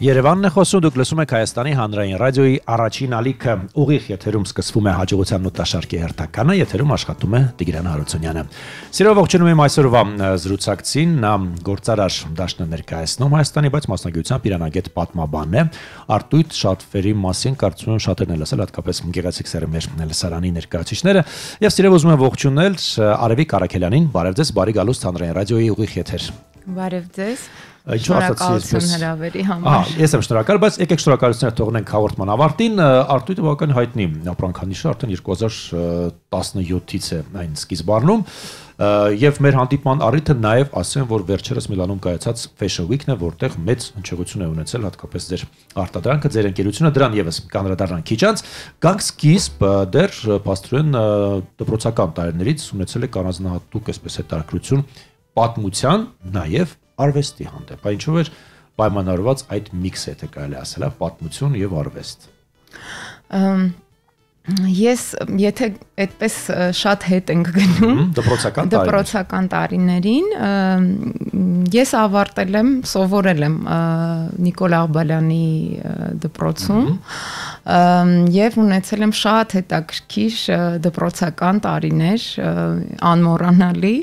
Երևանն է խոսում, դուք լսում եք Հայաստանի հանրային ռադիոյի առաջին ալիքը ուղիղ եթերում սկսվում է հաջողության նոտաշարքի հերթականը, եթերում աշխատում է Տիգրան Հարությունյանը։ Սիրով ողջունում եմ այսօրվա զրուցակցին, նա գործարար դաշնը ներկայացնում Հայաստանի, բայց մասնագիտությամբ իրանագետ պատմաբան է։ Արտույտ շատվերի մասին կարծում եմ շատերն են լսել, հատկապես գեղեցիկ սերմեր լսարանի ներկայացուցիչները, եւ սիրով ուզում եմ ողջունել Արևիկ Արաքելյանին, բարև ձեզ, բարի գալուստ հանրային ռադիոյի ուղիղ եթեր։ Բարև ձեզ։ Շնորհակալություն հրավերի համար։ Ես եմ շնորհակալ, բայց եկեք շնորհակալություններ թողնենք հաղորդման ավարտին։ Արտույտը բավական հայտնի ապրանքանիշը արդեն 2017-ից է այն սկիզբ առնում, եւ մեր հանդիպման առիթը նաեւ ասեմ, որ վերջերս Միլանում կայացած Fashion Week-ն է, որտեղ մեծ հնչեղություն է ունեցել հատկապես ձեր արտադրանքը, ձեր ընկերությունը, դրան եւս կանրադառնանք քիչ անց։ Գանք սկիզբ դեռ փաստորեն դպրոցական տարիներից ունեցել եք առանձնահատուկ այսպես հետաքրքրություն պատմության, նաեւ արվեստի հանդեպ, ինչով էր պայմանավորված այդ միքսը, եթե կարելի ասել, պատմություն եւ արվեստ։ Ես եթե այդպես շատ հետ ենք գնում դպրոցական տարիներին, ես ավարտել եմ, սովորել եմ Նիկոլ Աղբալյանի դպրոցում եւ ունեցել եմ շատ հետաքրքիր դպրոցական տարիներ, անմոռանալի։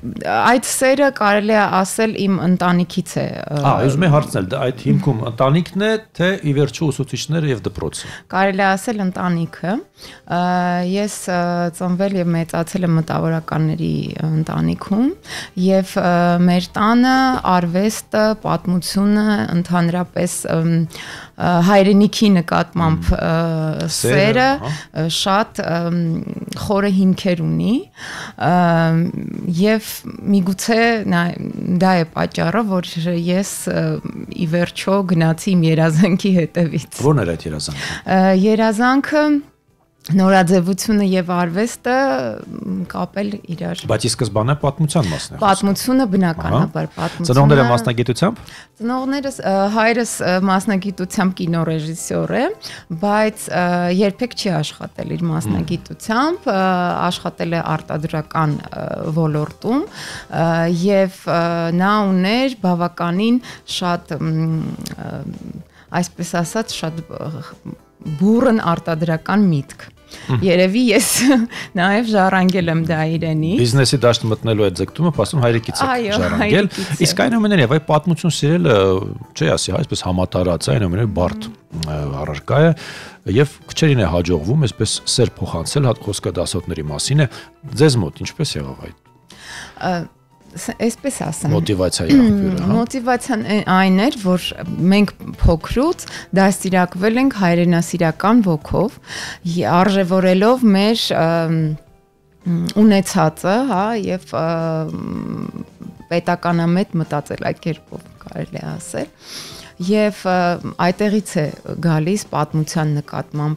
Այդ սերը կարելի է ասել իմ ընտանիքից է։ Ուզում եմ հարցնել, այդ հիմքում ընտանիքն է, թե ի վերջո ուսուցիչները եւ դպրոցը։ Կարելի է ասել ընտանիքը։ Ես ծնվել եւ մեծացել եմ մտավորականների ընտանիքում եւ մեր տանը արվեստը, պատմությունը, ընդհանրապես հայրենիքի նկատմամբ սերը շատ խորը հիմքեր ունի եւ միգուցե դա է պատճառը, որ ես ի վերջո գնացի իմ երազանքի հետևից։ Ո՞րն էր այդ երազանքը։ Երազանքը նորաձևությունը եւ արվեստը կապել իրար։ Բայց ի սկզբանե պատմության մասն է։ Պատմությունը բնականաբար պատմությունը։ Ծնողները մասնագիտությամբ։ Ծնողներս հայրս մասնագիտությամբ կինոռեժիսոր է, բայց երբեք չի աշխատել իր մասնագիտությամբ, աշխատել է արտադրական ոլորտում եւ նա ուներ բավականին շատ այսպես ասած շատ բուրըն արտադրական միտք։ Երևի ես նաև ժառանգել եմ դա իրենից։ Բիզնեսի դաշտ մտնելու այդ ձգտումը փաստում հայրիկից է ժառանգել։ Իսկ այնուամենայնիվ այդ պատմություն սիրելը, չի ասի, այսպես համատարած է, այնուամենայնիվ բարդ առարկա է եւ քչերին է հաջողվում այսպես սեր փոխանցել, հատ խոսքը դասոտների մասին է։ Ձեզ մոտ ինչպես եղավ այդ։ Այսպես ասեմ։ Մոտիվացիայի աղբյուրը, հա։ Մոտիվացիան այն էր, որ մենք փոքրուց դաստիարակվել ենք հայրենասիրական ոգով, արժևորելով մեր ունեցածը, հա, եւ պետականամետ մտածելակերպով կարելի է ասել։ Եվ այդտեղից է գալիս պատմության նկատմամբ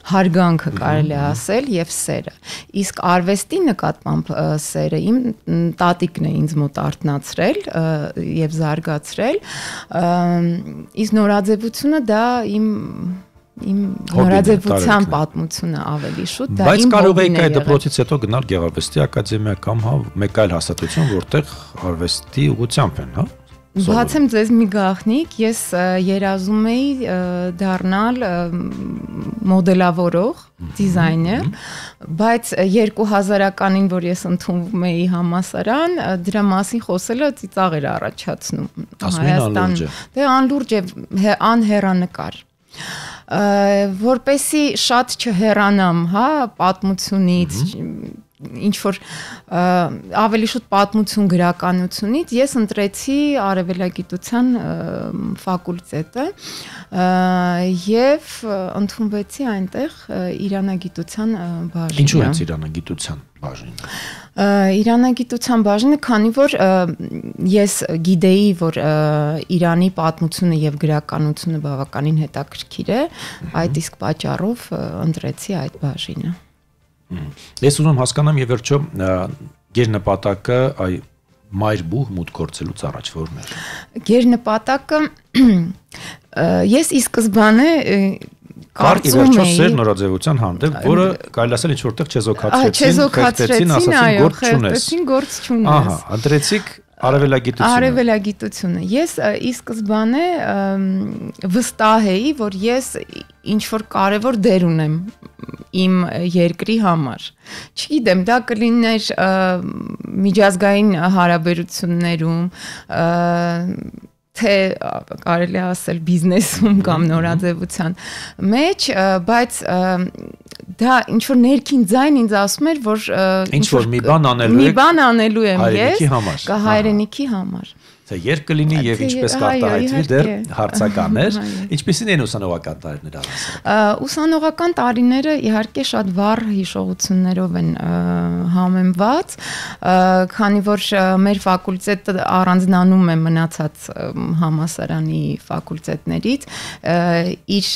հարգանքը կարելի է ասել եւ սերը։ Իսկ արվեստի նկատմամբ սերը իմ տատիկն է ինձ մոտ արթնացրել եւ զարգացրել։ Իսկ նորաձևությունը դա իմ նորաձևության պատմությունը ավելի շուտ դա իմ։ Բայց կարող եք այդ դպրոցից հետո գնալ Գեղարվեստի ակադեմիա կամ հա մեկ այլ հաստատություն, որտեղ արվեստի ուղղությամբ են, հա։ Բացեմ ձեզ մի գաղտնիք, ես երազում էի դառնալ մոդելավորող, դիզայներ, բայց 2000-ականին, որ ես ընդունվում էի համալսարան, դրա մասին խոսելը ծիծաղ էր առաջացնում Հայաստան։ Դե անլուրջ է, անհեռանկար։ Որպեսի շատ չհեռանամ, հա, պատմությունից, ինչ որ ավելի շուտ պատմություն գրականությունից ես ընտրեցի արևելագիտության ֆակուլտետը եւ ընդունվեցի այնտեղ իրանագիտության բաժին։ Ինչու է իրանագիտության բաժինը։ Իրանագիտության բաժինը, քանի որ ես գիտեի, որ Իրանի պատմությունը եւ գրականությունը բավականին հետաքրքիր է, այդ իսկ պատճառով ընտրեցի այդ բաժինը։ Ես ուզում հասկանամ եւ վերջո գերնպատակը այ մայրբուհ մուտք գործելուց առաջ որն էր։ Գերնպատակը ես ի սկզբանե կարծում էի սեր նորաձևության հանդեպ, որը կարելի ասել ինչ որտեղ չեզոքացրեցին, խեղդեցին, ասացին գործ չունես։ Գործ չունես։ Ահա, ընտրեցիք Արևելագիտությունը։ Ես ի սկզբանե վստահ էի, որ ես ինչ որ կարևոր դեր ունեմ իմ երկրի համար։ Չգիտեմ, դա կլիներ միջազգային հարաբերություններում, թե կարելի ասել բիզնեսում կամ նորաձևության մեջ, բայց դա ինչ որ ներքին ձայն ինձ ասում էր, որ ինչ որ մի բան անելու եմ ես հայրենիքի համար։ Թե երբ կլինի եւ ինչպես կարտահայտվի դեռ հարցականներ, ինչպեսին են ուսանողական տարիները առանց։ Ուսանողական տարիները իհարկե շատ վառ հիշողություններով են համեմված, քանի որ մեր ֆակուլտետը առանձնանում է մնացած համասարանի ֆակուլտետներից իր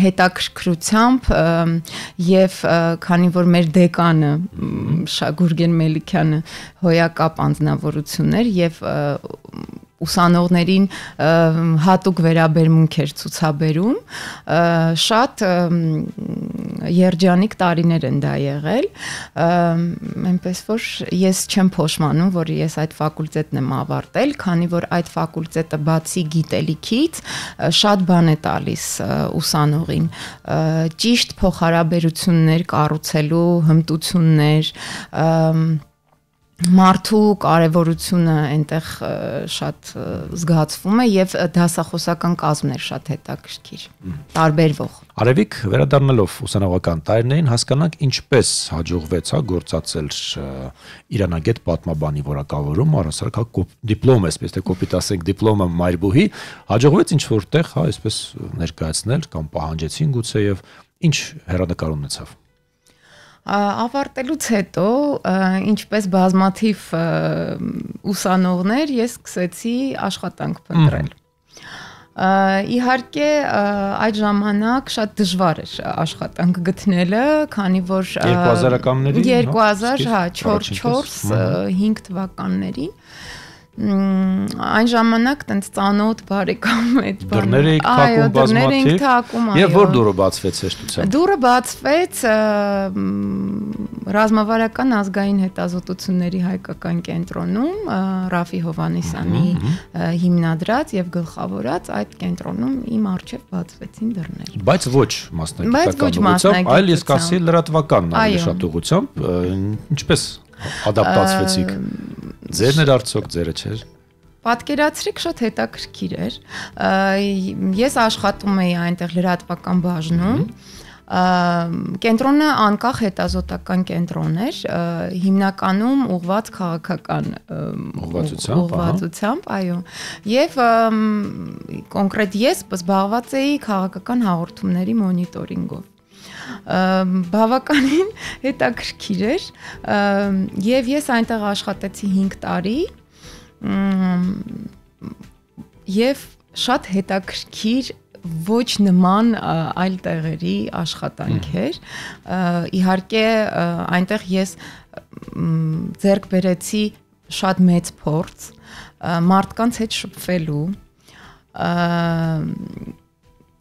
հետաքրքրությամբ եւ քանի որ մեր դեկանը Գուրգեն Մելիքյանը հոյակապ անձնավորություններ եւ ուսանողներին հատուկ վերաբերմունք էր ցուցաբերում, շատ երջանիկ տարիներ են դա եղել, այնպես որ ես չեմ փոշմանում, որ ես այդ ֆակուլտետն եմ ավարտել, քանի որ այդ ֆակուլտետը բացի գիտելիքից շատ բան է տալիս ուսանողին, ճիշտ փոխհարաբերություններ կառուցելու հմտություններ, մարդու կարևորությունը այնտեղ շատ զգացվում է եւ դասախոսական կազմներ շատ հետաքրքիր, տարբերվող։ Արևիկ, վերադառնալով ուսանողական տարիներին, հասկանանք ինչպես հաջողվեց գործածել իրանագետ պատմաբանի որակավորում, առասարակ դիպլոմ, այսպես թե կոպիտ ասենք դիպլոմը մայրբուհի, հաջողվեց ինչ որտեղ, այսպես ներկայացնել կամ պահանջեցին գուցե եւ ինչ հեռանկար ունեցավ։ Ավարտելուց հետո, ինչպես բազմաթիվ ուսանողներ, ես սկսեցի աշխատանք փնտրել։ Իհարկե, այդ ժամանակ շատ դժվար էր աշխատանք գտնելը, քանի որ 2004-5 թվականներին այն ժամանակ տենց ծանոթ բարեկամ այդ դռներ էիք թակում բազմաթիվ եւ որ դուրը բացվեց հեշտությամբ դուրը բացվեց ռազմավարական ազգային հետազոտությունների հայկական կենտրոնում Ռաֆի Հովհաննիսյանի հիմնադրած եւ գլխավորած այդ կենտրոնում իմ առջեւ բացվեցին դռներ բայց ոչ մասնագիտական ուղղությամբ այլ ես կասի լրատվական շատ ուղղությամբ ինչպես ադապտացվեցիք ձերն էր արդյոք ձերը չէր Պատկերացրեք շատ հետաքրքիր էր ես աշխատում էի այնտեղ լրատվական բաժնում կենտրոնը անկախ հետազոտական կենտրոն էր հիմնականում ուղղված քաղաքական ուղղվածությամբ այո եւ կոնկրետ ես զբաղված էի քաղաքական հաղորդումների մոնիտորինգով բավականին հետաքրքիր էր եւ ես այնտեղ աշխատեցի 5 տարի եւ շատ հետաքրքիր ոչ նման այլ տեղերի աշխատանք էր իհարկե այնտեղ ես ձեռք բերեցի շատ մեծ փորձ մարդկանց հետ շփվելու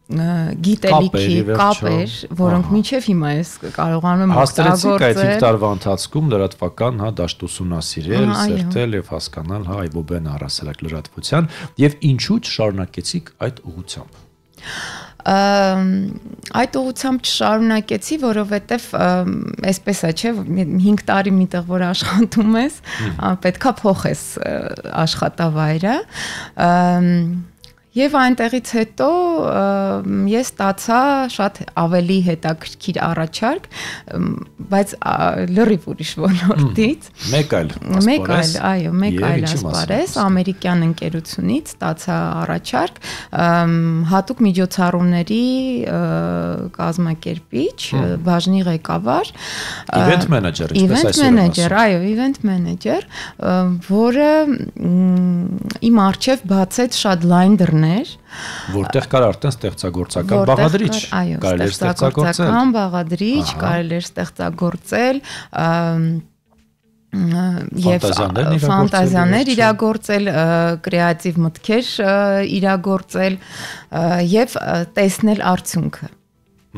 գիտելիքի կապեր, որոնք մինչև հիմա ես կարողանում եմ օգտագործել։ Հաստրեցիք այդ 5 տարվա ընթացքում լրատվական, դաշտ ուսումնասիրել, սերտել եւ հասկանալ, այբոբեն առասարակ լրատվության եւ ինչու չշարունակեցիք այդ ուղղությամբ։ Այդ ուղղությամբ չշարունակեցի, որովհետեւ այսպես է, չէ, 5 տարի միտեղ որ աշխատում ես, պետքա փոխես աշխատավայրը Եվ այնտեղից հետո ես ստացա շատ ավելի հետաքրքիր առաջարկ, բայց լրիվ ուրիշ ոլորտից։ Մեկ այլ ասպարեզ, ամերիկյան ընկերությունից ստացա առաջարկ, հատուկ միջոցառումների կազմակերպիչ, բաժնի ղեկավար, event manager, ինչպես այսօր ասում։ Այո, event manager, որը իմ առջև բացեց շատ լայն դռներ որտեղ կար արդեն ստեղծագործական բաղադրիչ, կարելի էր ստեղծագործական բաղադրիչ, կարելի էր ստեղծագործել եւ ֆանտազիաներ իրագործել, կրեատիվ մտքեր իրագործել եւ տեսնել արդյունքը։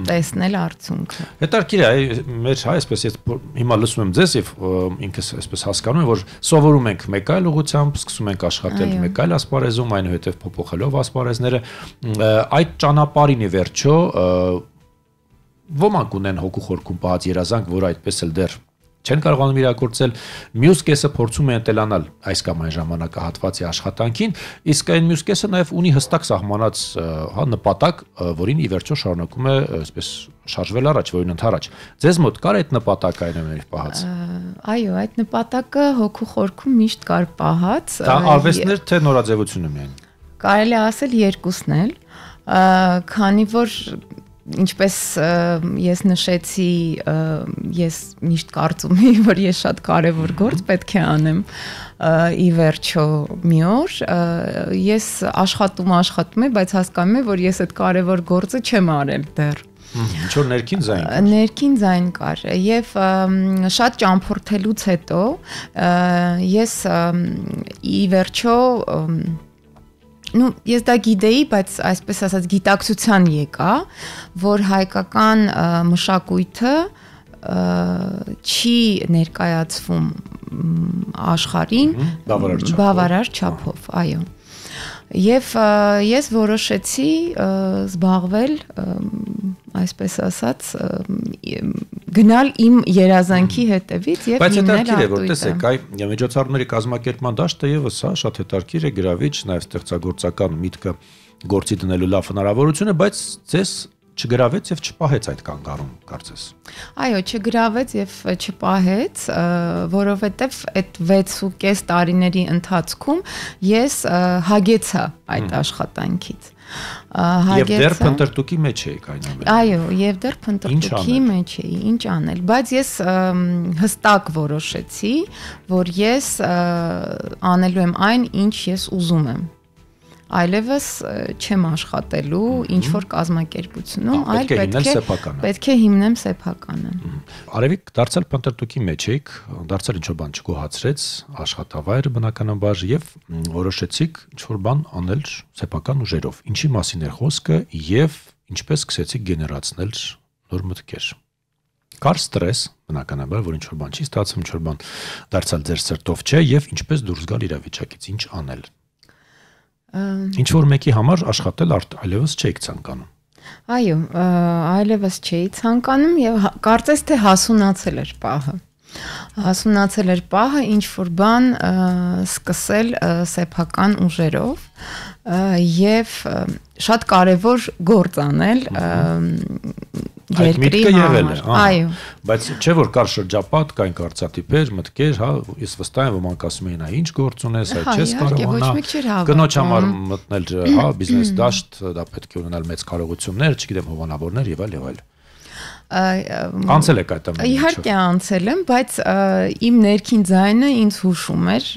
տեսնել արդյունքը։ Հետաքրքիր է, մեր այսպես ես հիմա լսում եմ ձեզ եւ ինքս այսպես հասկանում եմ, որ սովորում ենք մեկ այլ ուղղությամբ, սկսում ենք աշխատել մեկ այլ ասպարեզում, այնուհետեւ փոփոխելով ասպարեզները, այդ ճանապարհին ի վերջո ոմանք ունեն հոգու խորքում պահած երազանք, որ այդպես էլ դեռ չեն կարողանում իրագործել, մյուս կեսը փորձում է ընտելանալ այս կամ այն ժամանակահատվածի աշխատանքին, իսկ այն մյուս կեսը նաև ունի հստակ սահմանած նպատակ, որին ի վերջո շարունակում է այսպես շարժվել առաջ, որին ընթരാճ։ Ձեզ մոտ կար այդ նպատակը այնուամենայնիվ պահած։ Այո, այդ նպատակը հոգու խորքում միշտ կար պահած։ Դա արվեստներ թե նորաձևությունը միայն։ Կարելի է ասել երկուսն էլ, քանի որ ինչպես ես նշեցի, ես միշտ կարծում եմ, որ ես շատ կարևոր գործ պետք է անեմ ի վերջո մի օր, ես աշխատում եմ, բայց հասկանում եմ, որ ես այդ կարևոր գործը չեմ արել դեռ։ Ինչ որ ներքին ձայն կար։ Ներքին ձայն կար եւ շատ ճամփորդելուց հետո ես ի վերջո ես դա գիտեի, բայց այսպես ասած գիտակցության եկա, որ հայկական մշակույթը չի ներկայացվում աշխարհին բավարար չափով, այո։ Եվ ես որոշեցի զբաղվել, այսպես ասած, գնալ իմ երազանքի հետևից եւ հիմնել արտույտը։ Բայց հետաքրքիր է, որ տեսեք, այ միջոցառումների կազմակերպման դաշտը եւս շատ հետաքրքիր է, գրավիչ, նաեւ ստեղծագործական միտքը գործի դնելու լավ հնարավորություն է, բայց ձեզ չգրավեց եւ չպահեց այդ կանգառում, կարծես։ Այո, չգրավեց եւ չպահեց, որովհետեւ այդ 6.5 տարիների ընթացքում ես հագեցա այդ աշխատանքից։ Եվ դեռ փնտրտուքի մեջ էիք այնուամենայնիվ։ Այո, եւ դեռ փնտրտուքի մեջ էի, ինչ անել, բայց ես հստակ որոշեցի, որ ես անելու եմ այն, ինչ ես ուզում եմ։ Այլևս չեմ աշխատելու ինչ որ կազմակերպությունում, այլ պետք է հիմնեմ սեփականը։ Արևիկ դարձել փնտրտուքի մեջ եք, դարձել ինչ որ բան չգոհացրեց, աշխատավայրը բնականաբար եւ որոշեցիք ինչ որ բան անել սեփական ուժերով։ Ինչի մասին էր խոսքը եւ ինչպես սկսեցիք գեներացնել նոր մտքեր։ Կար ստրես, բնականաբար, որ ինչ որ բան չի ստացվում, ինչ որ բան դարձալ ձեր սրտով չէ եւ ինչպես դուրս գալ իրավիճակից, ինչ անել։ Ինչ որ մեկի համար աշխատել այլևս չէիք ցանկանում։ Այո, այլևս չէի ցանկանում եւ կարծես թե հասունացել էր պահը։ Հասունացել էր պահը ինչ որ բան սկսել սեփական ուժերով եւ շատ կարեւոր գործ անել երկրի համար։ Այո։ Բայց չէ որ կար շրջապատ, կային կարծատիպեր, մտքեր, հա, ես վստահ եմ ոմանք ասում էին, ինչ գործ ունես, այդ չես կարողանա։ Կնոջ համար մտնել, հա, բիզնես դաշտ, դա պետք է ունենալ մեծ կարողություններ, չգիտեմ, հովանավորներ եւ այլ։ Անցել եք այդ ամենը։ Իհարկե անցել եմ, բայց իմ ներքին ձայնը ինձ հուշում էր,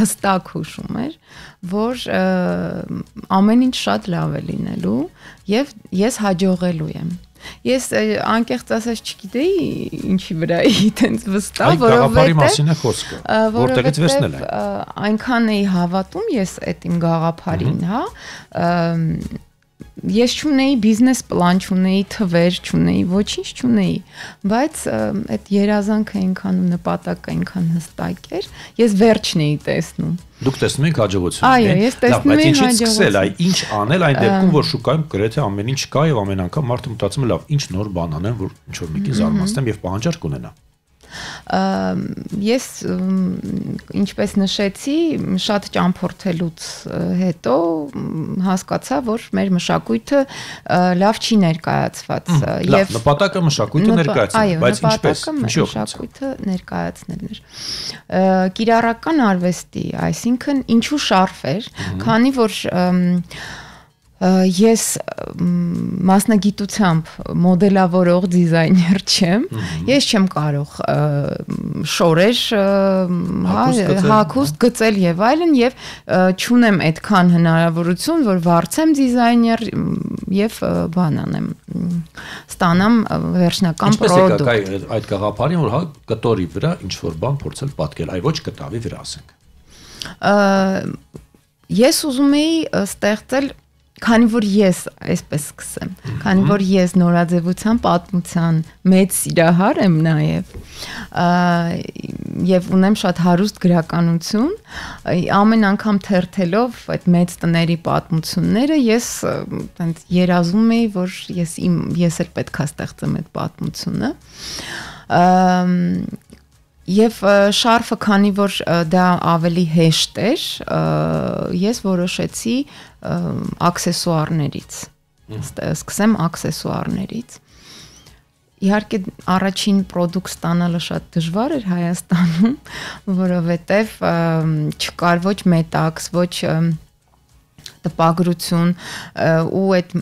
հստակ հուշում էր, որ ամեն ինչ շատ լավ է լինելու եւ ես հաջողելու եմ։ Ես անկեղծ ասած չգիտեի ինչի վրա էի այդպես վստահ, որովհետեւ այնքան էի հավատում ես այդ իմ գաղափարին, հա, ես չունեի բիզնես պլան, չունեի թվեր, չունեի, ոչինչ չունեի, բայց այդ երազանքը այնքան ու նպատակը այնքան հստակ էր, ես վերջն էի տեսնում։ Դուք տեսնում եք հաջողություն։ Այո, ես տեսնում եմ հաջողություն։ Այ ինչ անել այն դեպքում, որ շուկայում գրեթե ամեն ինչ կա եւ ամեն անգամ մարդը մտածում է, լավ, ինչ նոր բան անեմ, որ ինչ որ մեկին զարմացնեմ եւ պահանջարկ ունենա։ Ես ինչպես նշեցի, շատ ճամփորդելուց հետո հասկացա, որ մեր մշակույթը լավ չի ներկայացված եւ նպատակը մշակույթը ներկայացնել, բայց ինչպես, ինչի մշակույթը ներկայացնելն էր։ Կիրառական արվեստի, այսինքն ինչու շարֆեր, քանի որ ես մասնագիտությամբ մոդելավորող դիզայներ չեմ, ես չեմ կարող շորեր, հագուստ գծել եւ այլն եւ չունեմ այդքան հնարավորություն, որ վարձեմ դիզայներ եւ բան անեմ, ստանամ վերջնական պրոդուկտ։ Ինչպես է այդ գաղափարին, որ հա կտորի վրա ինչ որ բան փորձել պատկել, այ ոչ կտավի վրա ասենք։ Ես ուզում էի ստեղծել Քանի որ ես այսպես սկսեմ, քանի որ ես նորաձևության պատմության մեծ սիրահար եմ նաև, եւ ունեմ շատ հարուստ գրականություն, ամեն անգամ թերթելով այդ մեծ տների պատմությունները, ես այնց երազում եի, որ ես էլ պետք է ստեղծեմ այդ պատմությունը։ Եվ շարֆը, քանի որ դա ավելի հեշտ էր, ես որոշեցի աքսեսուարներից, սկսեմ աքսեսուարներից։ Իհարկե առաջին պրոդուկտ ստանալը շատ դժվար էր Հայաստանում, որովհետև չկար ոչ մետաքս, ոչ տպագրություն ու այդ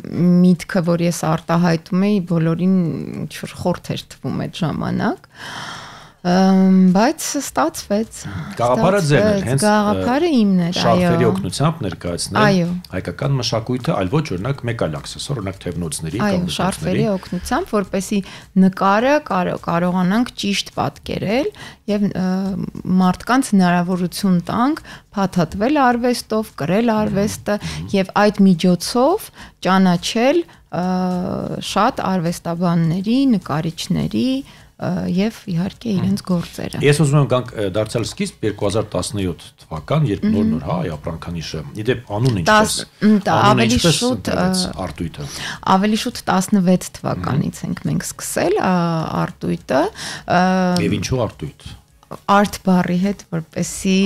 միտքը, որ ես արտահայտում էի, բոլորին ինչ-որ խորթ էր թվում այդ ժամանակ։ Բայց ստացվեց։ Գաղափարը ձեր էր, հենց գաղափարը իմն էր, այո։ Շարֆերի օգնությամբ ներկայացնել հայկական մշակույթը, այլ ոչ օրինակ մեկ այլ աքսեսուար, օրինակ թևնոցների կամ այո, շարֆերի օգնությամբ, որպեսզի նկարը կարողանանք ճիշտ պատկերել եւ մարդկանց հնարավորություն տանք փաթաթվել արվեստով, կրել արվեստը եւ այդ միջոցով ճանաչել շատ արվեստաբանների, նկարիչների եւ իհարկե իրենց գործերը։ Ես ուզում եմ գանք դարձյալ սկիզբ 2017 թվական, երբ նոր հայ ապրանքանիշը, իդեպ անունը ինչպես արտույտը։ Ավելի շուտ 16 թվականից ենք մենք սկսել արտույտը։ Եվ ինչու արտույտ։ Արտ բառի հետ, որպեսի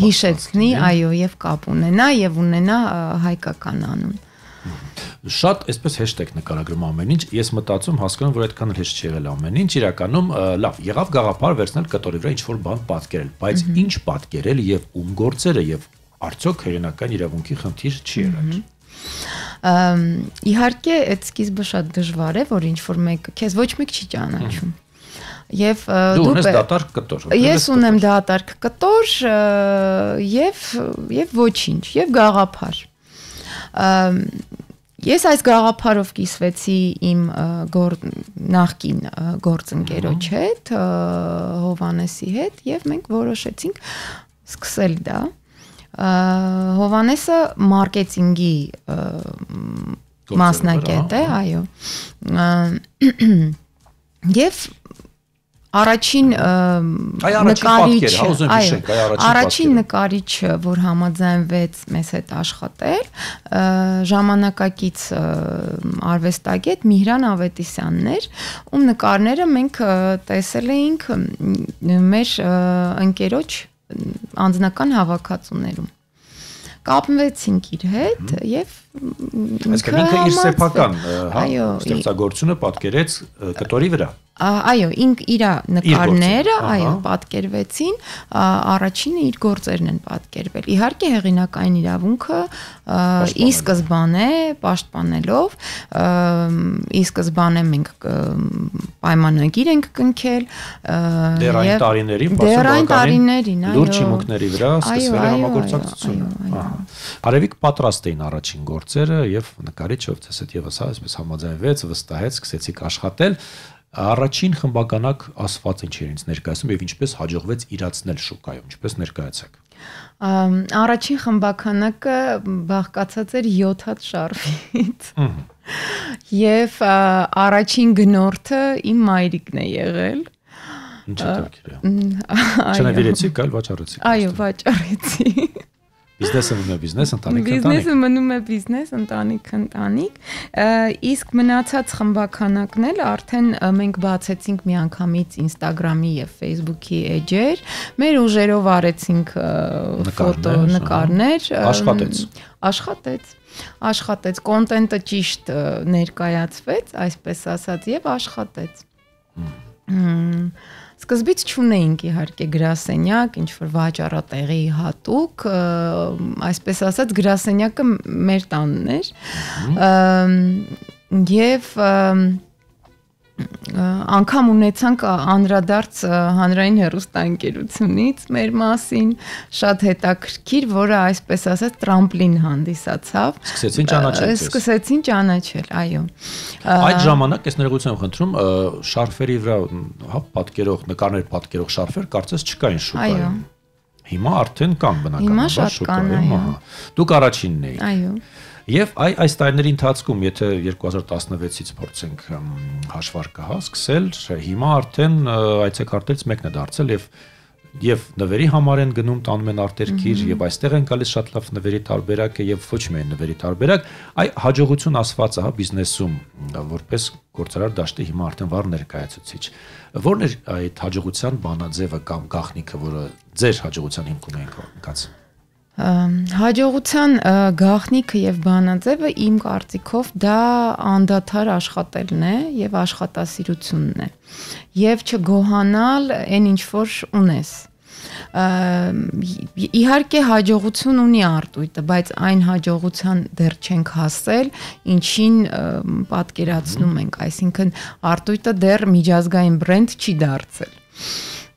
հիշեցնի, այո, եւ կապ ունենա եւ ունենա հայկական անուն։ Շատ այսպես հեշտ նկարագրում ամեն ինչ, ես մտածում հասկանում, որ այդքան հեշտ չի եղել ամեն ինչ, իրականում լավ, եղավ գաղափար վերցնել կտորի վրա ինչ-որ բան պատկերել, բայց ինչ պատկերել եւ ում գործերը եւ արդյոք հեղինակային իրավունքի խնդիր չի եղել։ Իհարկե, այդ սկիզբը շատ դժվար է, որ ինչ-որ մեկը քեզ ոչ մեկ չի ճանաչում։ Եվ դու ունես դատարկ կտոր։ Ես ունեմ դատարկ կտոր եւ ոչինչ, եւ գաղափար։ Ես այս գաղափարով կիսվեցի իմ նախկին գործընկերոջ հետ, Հովանեսի հետ, եւ մենք որոշեցինք սկսել դա։ Հովանեսը մարքեթինգի մասնակից է, այո։ Եվ առաջին նկարիչը, որ համաձայնվեց մեզ հետ աշխատել, ժամանակակից արվեստագետ Միհրան Ավետիսյանն էր, ում նկարները մենք տեսել էինք մեր ընկերոջ անձնական հավաքածուներում։ Կապվեցինք իր հետ եւ ինքը իր սեփական ստեղծագործությունը պատկերեց կտորի վրա։ Այո, իր նկարները, այո, պատկերվեցին, առաջինը իր գործերն են պատկերվել։ Իհարկե հեղինակային իրավունքը ի սկզբանե պաշտպանելով, ի սկզբանե մենք պայմանագիր ենք կնքել դեռ այն տարիներին լուրջ հիմունքների վրա սկսվել է համագործակցությունը։ Արևիկ պատրաստ էին առաջին գործերը եւ նկարիչը ով ցես եւս այսպես համաձայնվեց, վստահեց, սկսեցիք աշխատել։ Առաջին խմբականակ ասված ինչ էր ինձ ներկայացնում եւ ինչպես հաջողվեց իրացնել շուկայում, ինչպես ներկայացաք։ Առաջին խմբականակը բաղկացած էր 7 հատ շարֆից։ Եվ առաջին գնորդը իմ մայրիկն է եղել։ Ինչ է դեպքերը։ Չնավիրեցիք, այլ վաճառեցիք։ Այո, վաճառեցի։ Բիզնեսը մնում է բիզնես, ընտանիքը ընտանիք։ Բիզնեսը մնում է բիզնես, ընտանիքը ընտանիք։ Իսկ մնացած խմբականակն էլ արդեն մենք բացեցինք միանգամից Instagram-ի եւ Facebook-ի էջեր, մեր ուժերով արեցինք ֆոտո նկարներ, աշխատեց, կոնտենտը ճիշտ ներկայացվեց, այսպես ասած, եւ աշխատեց։ Սկզբից չունեինք իհարկե գրասենյակ, ինչ որ վաճառատեղի հատուկ, այսպես ասած գրասենյակը մեր տանն էր։ Եվ անգամ ունեցանք անդրադարձ հանրային հեռուստաընկերությունից մեր մասին, շատ հետաքրքիր, որը այսպես ասած տրամպլին հանդիսացավ։ Սկսեցին ճանաչել, այո։ Այդ ժամանակ ես ներողություն խնդրում, շարֆերի վրա պատկերող, նկարներ պատկերող շարֆեր կարծես չկային շուկայում։ Հիմա արդեն կան բնականաբար շուկայում։ Դուք առաջինն էիք։ Այո։ Եվ այս տարիների ընթացքում, եթե 2016-ից փորձենք հաշվարկը հասկսել, հիմա արդեն այցեքարտերից մեկն է դարձել եւ նվերի համար են գնում տանում են արտերկիր եւ այստեղ են գալիս շատ լավ նվերի տարբերակ եւ ոչ միայն նվերի տարբերակ, այ հաջողություն ասվածը, հա, բիզնեսում որպես գործարար դաշտի հիմա արդեն վառ ներկայացուցիչ։ Որն է այդ հաջողության բանաձևը կամ գաղտնիքը, որը ձեր հաջողության հիմքում է ընկած։ Հաջողության գաղտնիքը եւ բանաձևը իմ կարծիքով դա անդադար աշխատելն է եւ աշխատասիրությունն է եւ չգոհանալ այն ինչ որ ունես։ Իհարկե հաջողություն ունի արտույտը, բայց այն հաջողության դեռ չենք հասել, ինչին պատկերացնում ենք, այսինքն արտույտը դեռ միջազգային բրենդ չի դարձել։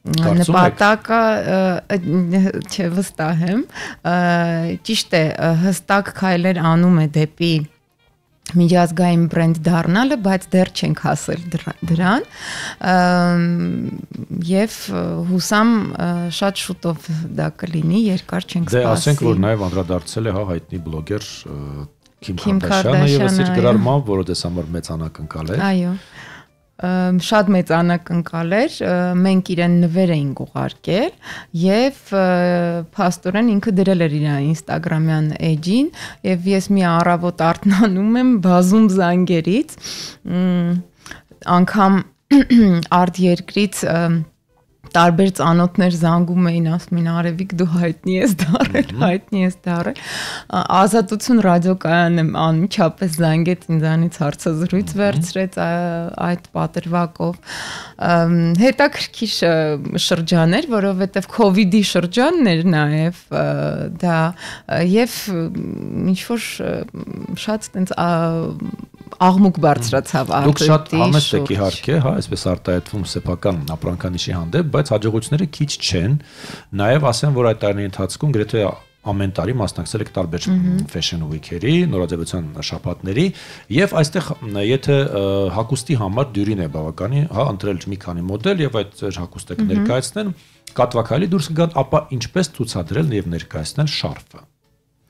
Նպատակը չէ, վստահ եմ, ճիշտ է, հստակ քայլեր անում է դեպի միջազգային բրենդ դառնալը, բայց դեռ չենք հասել դրան եւ հուսամ շատ շուտով դա կլինի, երկար չենք սպասի։ Դե ասենք, որ նաեւ անդրադարձել է հայտնի բլոգեր Քիմ Քարդաշյանը եւ իր գրառմամբ, որը դες համար մեծ անակնկալ է։ Այո։ Շատ մեծ անակնկալ էր, մենք իրեն նվեր էինք ուղարկել եւ փաստորեն ինքը դրել էր իր Instagram-յան էջին եւ ես մի առավոտ արթնանում եմ բազում զանգերից, անգամ արտերկրից տարբեր ծանոթներ զանգում էին, ասում էին Արևիկ դու հայտնի ես դառել, Ազատություն ռադիոկայանն եմ անմիջապես զանգեց ինձանից հարցազրույց վերցրեց այդ պատրվակով, հետաքրքիր շրջան էր, որովհետև COVID-ի շրջանն էր նաև դա եւ ինչ որ շատ տենց աղմուկ բարձրացավ արտերկրի։ Դուք շատ համեստ եք իհարկե, հա, այսպես արտահայտվում սեփական ապրանքանիշի հանդեպ, բայց հաջողությունները քիչ չեն։ Նաև ասեմ, որ այդ տարիների ընթացքում գրեթե ամեն տարի մասնակցել եք տարբեր fashion week-երի, նորաձևության շաբաթների, եւ այստեղ եթե հագուստի համար դյուրին է բավականի, հա, ընտրել մի քանի մոդել եւ այդ հագուստը կներկայացնեն, կատվակայելի դուրս կգան, ապա ինչպես ցուցադրել եւ ներկայացնել շարֆը։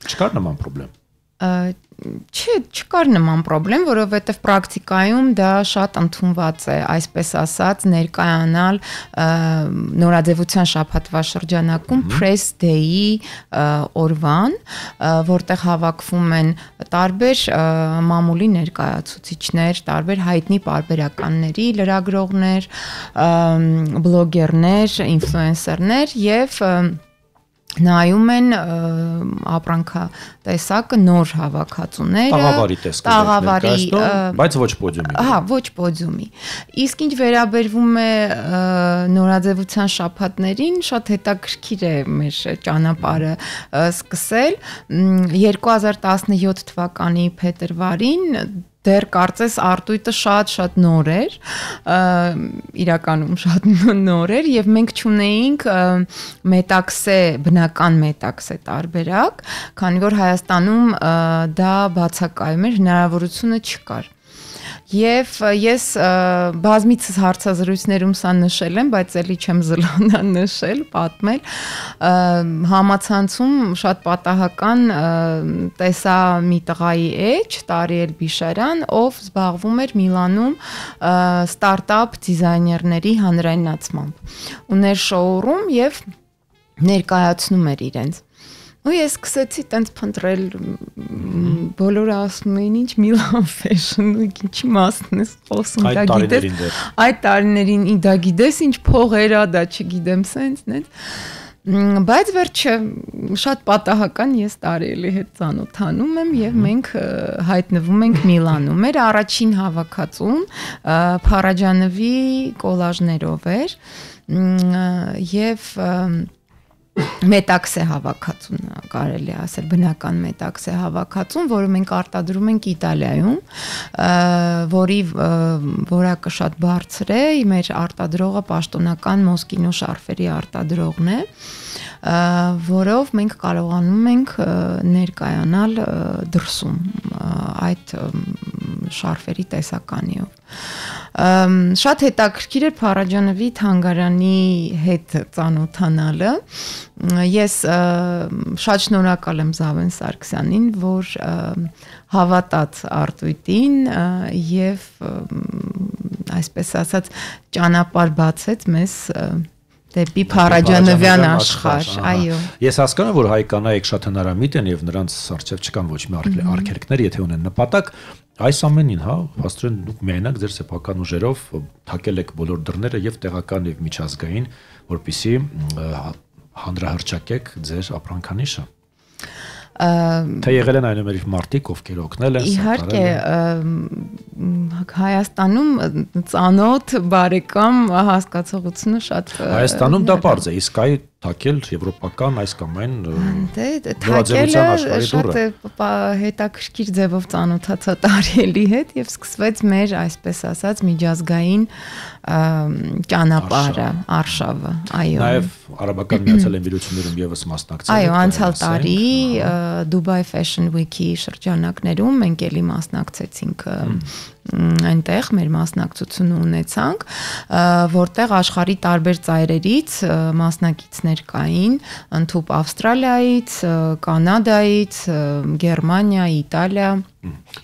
Չկար նման խնդրեմ։ Չկար նման խնդրեմ, որովհետև պրակտիկայում դա շատ ընդունված է, այսպես ասած, ներկայանալ նորաձևության շաբաթվա շրջանակում press day-ի օրվան, որտեղ հավաքվում են տարբեր մամուլի ներկայացուցիչներ, տարբեր հայտնի պարբերականների, լրագրողներ, բլոգերներ, ինֆլուենսերներ եւ նայում են ապրանքատեսակը նոր հավաքածուները, տաղավարի տեսքով, բայց ոչ պոդիումի։ Հա, ոչ պոդիումի։ Իսկ ինչ վերաբերվում է նորաձևության շաբաթներին, շատ հետաքրքիր է մեր ճանապարհը սկսել 2017 թվականի փետրվարին դեռ կարծես արտույտը շատ նոր էր, իրականում շատ նոր էր եւ մենք չունեինք մետաքսե, բնական մետաքսե տարբերակ, քանի որ Հայաստանում դա բացակայում էր, հնարավորությունը չկար։ Եվ ես բազմիցս հարցազրույցներում սա նշել եմ, բայց ելի չեմ զլանա նշել, պատմել, համացանցում շատ պատահական տեսա մի տղայի էջ, Տարիել Բիշարյան, ով զբաղվում էր Միլանում ստարտափ դիզայներների հանրայնացմամբ։ Ուներ շոուրում եւ ներկայացնում էր իրենց։ Ու ես սկսեցի տենց փնտրել, բոլորը ասում էին ինչ Milan Fashion, ինչի մասն ես խոսում, դա գիտես։ Այդ տարիներին դա գիտես ինչ փողեր ա, դա չգիտեմ սենց, նենց։ Բայց վերջը շատ պատահական ես Տարիելի հետ ծանոթանում եմ եւ մենք հայտնվում ենք Միլանում։ Մեր առաջին հավաքածուն Փարաջանովի կոլաժներով էր եւ մետաքսե հավաքածուն կարելի ասել, բնական մետաքսե հավաքածուն, որը մենք արտադրում ենք Իտալիայում, որի որակը շատ բարձր է, մեր արտադրողը պաշտոնական Մոսկինո շարֆերի արտադրողն է, որով մենք կարողանում ենք ներկայանալ դրսում այդ շարֆերի տեսականիով։ Շատ հետաքրքիր էր Փարաջանովի թանգարանի հետ ծանոթանալը։ Ես շատ շնորհակալ եմ Զավեն Սարգսյանին, որ հավատաց Արտույտին եւ այսպես ասած ճանապարհ բացեց մեզ դեպի Փարաջանովյան աշխարհ, այո։ Ես հասկանում եմ, որ հայ կանայք շատ հնարամիտ են եւ նրանց առջեւ չկան ոչ մի արգելքներ, եթե ունեն նպատակ, այս ամենին, հա, փաստորեն դուք միայնակ ձեր սեփական ուժերով թակել եք բոլոր դռները եւ տեղական եւ միջազգային, որպեսզի հանրահրճակեք ձեր ապրանքանիշը։ Թե եղել են այնուամենայնիվ մարդիկ, ովքեր օգնել են, իհարկե, Հայաստանում ծանոթ բարեկամ հասկացողությունը շատ Հայաստանում դա պարզ է, իսկ այ թակել եվրոպական այս կամ այն թակելը շատ հետաքրքիր ձևով ծանոթացա Տարիելի հետ եւ սկսվեց մեր այսպես ասած միջազգային ճանապարհը, արշավը, այո։ Նաեւ Արաբական Միացյալ Էմիրություններում եւս մասնակցել եք։ Այո, անցյալ տարի Dubai Fashion Week-ի շրջանակներում մենք էլի մասնակցեցինք այնտեղ մեր մասնակցությունը ունեցանք, որտեղ աշխարհի տարբեր ծայրերից մասնակիցներ կային, ընդհանուր Ավստրալիայից, Կանադայից, Գերմանիա, Իտալիա։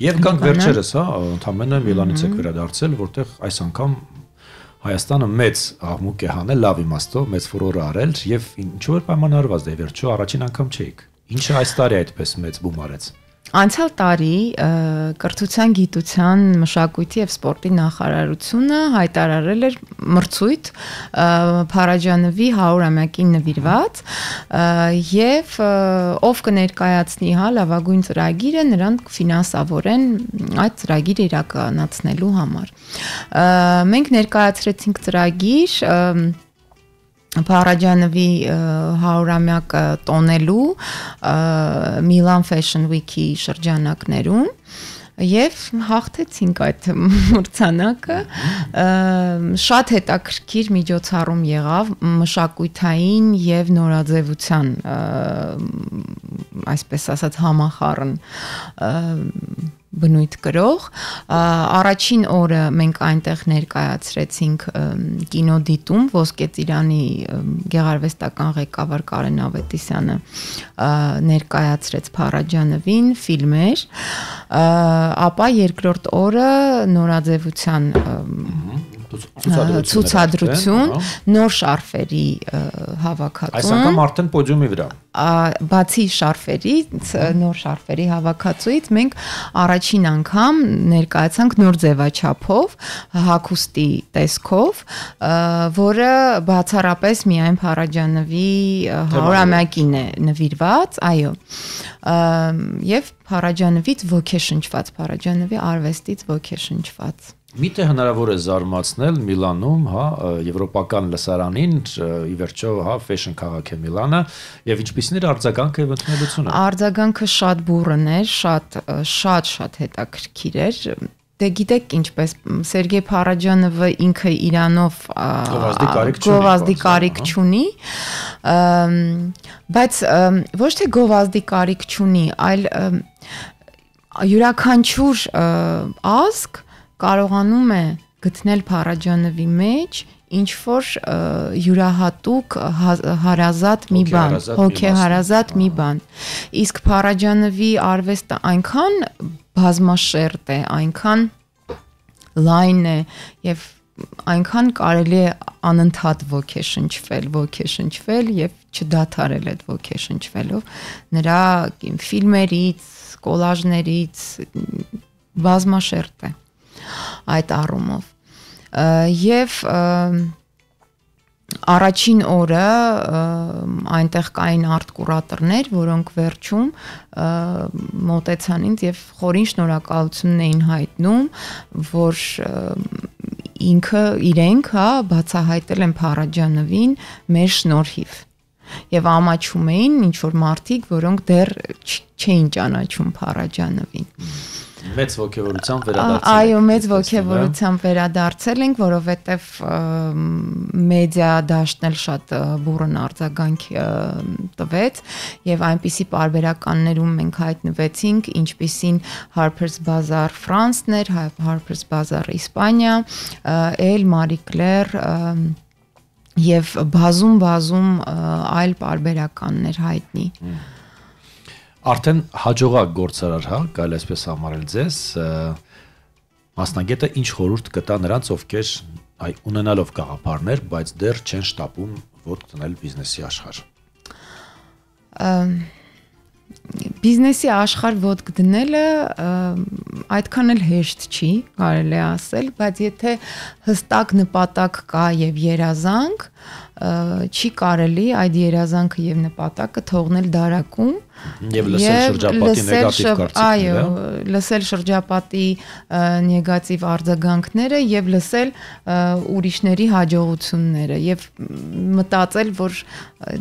Եվ կանք վերջերս, հա, ընդամենը Միլանից եք վերադարձել, որտեղ այս անգամ Հայաստանը մեծ աղմուկ է հանել, լավ իմաստով, մեծ ֆուրոր արել եւ ինչու որ պայմանավորված է վերջո առաջին անգամ չէիք։ Ինչը այս տարի այդպես մեծ բում արեց։ Անցյալ տարի կրթության, գիտության, մշակույթի եւ սպորտի նախարարությունը հայտարարել էր մրցույթ Փարաջանովի 100-ամյակին նվիրված եւ ով կներկայացնի հա լավագույն ծրագիրը նրան կֆինանսավորեն այդ ծրագիրը իրականացնելու համար։ Մենք ներկայացրեցինք ծրագիր Փարաջանովի 100-ամյակը տոնելու Milan Fashion Week-ի շրջանակներում եւ հաղթեցինք այդ մրցանակը շատ հետաքրքիր միջոցառում եղավ մշակույթային եւ նորաձևության այսպես ասած համախառն բնույթ կրող առաջին օրը մենք այնտեղ ներկայացրեցինք կինոդիտում Ոսկե Ծիրանի գեղարվեստական ղեկավար Կարեն Ավետիսյանը ներկայացրեց Փարաջանովին ֆիլմեր ապա երկրորդ օրը նորաձևության ցուցադրություն նոր շարֆերի հավաքածուն այս անգամ արդեն պոդիումի վրա բացի շարֆերից նոր շարֆերի հավաքածուից մենք առաջին անգամ ներկայացանք նոր ձևաչափով հագուստի տեսքով որը բացառապես միայն Փարաջանովի 100-ամյակին է նվիրված այո եւ Փարաջանովից ոգեշնչված Փարաջանովի արվեստից ոգեշնչված Միթե հնարավոր է զարմացնել Միլանում, հա, եվրոպական լսարանին, ի վերջո, հա, ֆեշն քաղաք է Միլանը, եւ ինչպիսին էր արձագանքը եւ ընդունելությունը։ Արձագանքը շատ բուռն էր, շատ հետաքրքիր էր։ Դե գիտեք ինչպես Սերգեյ Փարաջանովը ինքը իրանով գովազդի կարիք չունի, բայց ոչ թե գովազդի կարիք չունի, այլ յուրաքանչյուր ազգ կարողանում է գտնել Փարաջանովի մեջ ինչ որ յուրահատուկ հարազատ մի բան, հոգեհարազատ մի բան։ Իսկ Փարաջանովի արվեստը այնքան բազմաշերտ է, այնքան լայն է եւ այնքան կարելի է անընդհատ ոգեշնչվել եւ չդադարել այդ ոգեշնչվելով նրա ֆիլմերից, կոլաժներից բազմաշերտ է այդ առումով եւ առաջին օրը այնտեղ կային արտ կուրատորներ, որոնք վերջում մոտեցան ինձ եւ խորին շնորհակալություն էին հայտնում, որ իրենք հա բացահայտել են Փարաջանովին մեր շնորհիվ եւ ամաչում էին ինչ որ մարդիկ, որոնք դեռ չէին ճանաչում Փարաջանովին։ Մեծ ոգևորությամբ վերադարձել Այո, մեծ ոգևորությամբ վերադարձել ենք, որովհետև մեդիա դաշտն էլ շատ բուրըն արձագանք տվեց եւ այնպիսի պարբերականներում մենք հայտնվեցինք, ինչպիսին Harper's Bazaar Ֆրանսն էր, Harper's Bazaar Իսպանիա, El Marie Claire եւ բազում այլ պարբերականներ հայտնի։ Արդեն հաջողակ գործարար, հա, կարելի այսպես համարել ձեզ, մասնագետը ինչ խորհուրդ կտա նրանց, ովքեր ունենալով գաղափարներ, բայց դեռ չեն շտապում ոտք դնել բիզնեսի աշխարհ։ Բիզնեսի աշխարհ ոտք դնելը այդքան էլ հեշտ չի, կարելի է ասել, բայց եթե հստակ նպատակ կա եւ երազանք, չի կարելի այդ երազանքը եւ նպատակը թողնել դարակում եւ լսել շրջապատի նեգատիվ կարծիքները, այո, լսել շրջապատի նեգատիվ արձագանքները եւ լսել ուրիշների հաջողությունները եւ մտածել, որ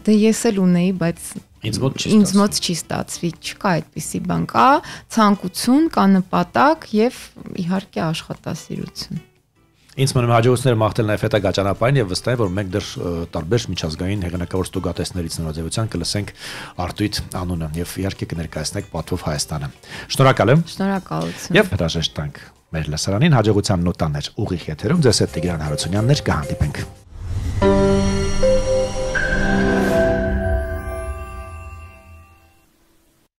դե ես էլ ունեի, բայց ինձ մոտ չի ստացվի, չկա այդպիսի բան, կա ցանկություն, կա նպատակ եւ իհարկե աշխատասիրություն։ Ինձ մնում հաջողությունները մաղթել նաև հետագա ճանապարհին եւ վստահ եմ, որ մենք դեռ տարբեր միջազգային հեղինակավոր ստուգատեսներից նորաձևության կլսենք Արտույտ անունը եւ իհարկե կներկայացնենք Պատվով Հայաստանը։ Շնորհակալ եմ։ Շնորհակալություն։ Եվ հրաժեշտ տանք մեր լսարանին հաջողության նոտաներ ուղիղ եթերում ձեզ հետ Տիգրան Հարությունյանն էր, կհանդիպենք։